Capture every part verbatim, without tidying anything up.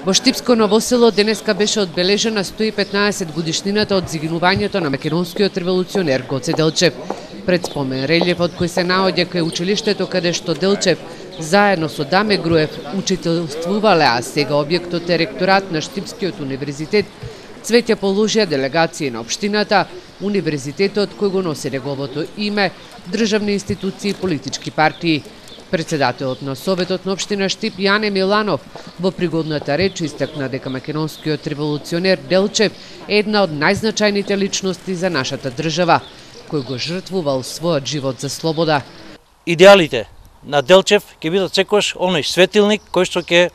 Во Штипско Ново село денеска беше одбележена сто и петнаесет годишнината од загинувањето на македонскиот револуционер Гоце Делчев. Пред спомен релјефот кој се наоѓа кај училиштето каде што Делчев заедно со Даме Груев учителствувале, а сега објектот е ректорат на Штипскиот универзитет, цвеќе положија делегации на општината, универзитетот кој го носи неговото име, државни институции и политички партии. Председателот на Советот на општина Штип Јане Миланов во пригодната реч истакна дека македонскиот револуционер Делчев е една од најзначајните личности за нашата држава, кој го жртвувал својот живот за слобода. Идеалите на Делчев ќе бидат секогаш оној светилник кој што ќе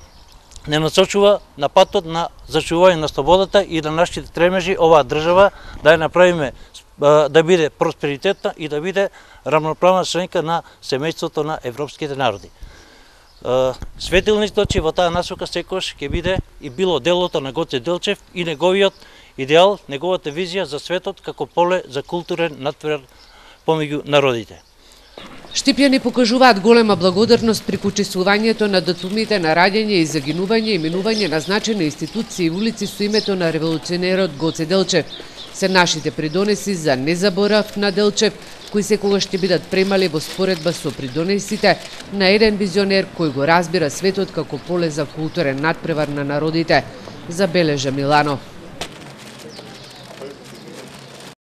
не насочува на патот на зачувување на слободата и на нашите тремежи оваа држава да ја направиме да биде просперитетна и да биде рамноправна членка на семејството на европските народи. Светилникот че во таа насока секогаш ќе биде и било делото на Гоце Делчев и неговиот идеал, неговата визија за светот како поле за културен натпревар помеѓу народите. Штипјани покажуваат голема благодарност при почестувањето на датумите на раѓање и загинување и минување на значајни институции и улици со името на револуционерот Гоце Делчев. Се нашите придонеси за незаборав на Делчев, кои секогаш ќе бидат премали во споредба со придонесите на еден визионер кој го разбира светот како поле за културен натпревар на народите, забележа Миланов.